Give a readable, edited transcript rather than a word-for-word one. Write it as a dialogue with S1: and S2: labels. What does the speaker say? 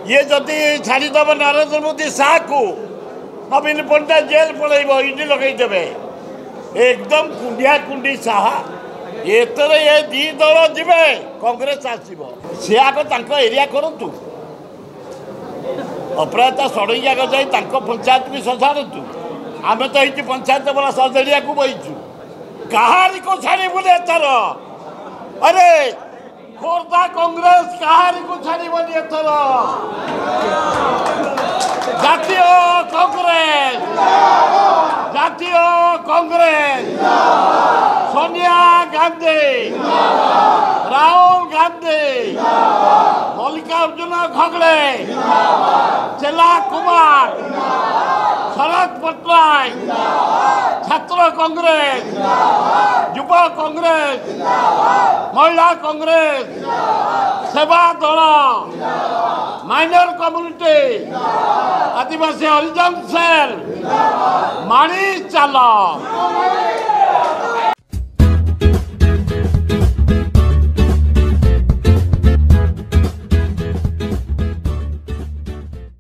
S1: ଇଏ ଯଦି ଛାଡ଼ିଦେବ ନରେନ୍ଦ୍ର ମୋଦି ଶାହାକୁ, ନବୀନ ପଟ୍ଟନାୟକ ଜେଲ୍ ପଳେଇବ, ଇଡି ଲଗେଇଦେବେ। ଏକଦମ କୁଣ୍ଡିଆ କୁଣ୍ଡି ସାହା। ଏଥର ଏ ଦି ଦଳ ଯିବେ, କଂଗ୍ରେସ ଆସିବ। ସେ ଆଗ ତାଙ୍କ ଏରିଆ କରନ୍ତୁ, ଅପରାଜିତା ଷଡ଼ଙ୍ଗୀ ଆଗ ଯାଇ ତାଙ୍କ ପଞ୍ଚାୟତ ବି ସଜାଡ଼ନ୍ତୁ। ଆମେ ତ ଏଇଠି ପଞ୍ଚାୟତ ବାଲା ସଜାଡ଼ିବାକୁ ବଇଛୁ। କାହାରିକୁ ଛାଡ଼ିବୁନି ଏଥର। ଆରେ ଖୋର୍ଦ୍ଧା କଂଗ୍ରେସ କାହାରିକୁ ଛାଡ଼ିବନି ଏଥର। ଜାତୀୟ କଂଗ୍ରେସ, ଜାତୀୟ କଂଗ୍ରେସ, ସୋନିଆ ଗାନ୍ଧୀ, ରାହୁଲ ଗାନ୍ଧୀ, ମଲ୍ଲିକାର୍ଜୁନ ଖଗଡ଼େ, ଚେଲା କୁମାର, ଶରତ ପଟ୍ଟନାୟକ, ଛାତ୍ର କଂଗ୍ରେସ, ଯୁବ କଂଗ୍ରେସ, ମହିଳା କଂଗ୍ରେସ, ସେବା ଦଳ, ମାଇନର କମ୍ୟୁନିଟି, ଆଦିବାସୀ ହରିଜନ ସେଲ୍, ମାଡ଼ି ଚାଲ।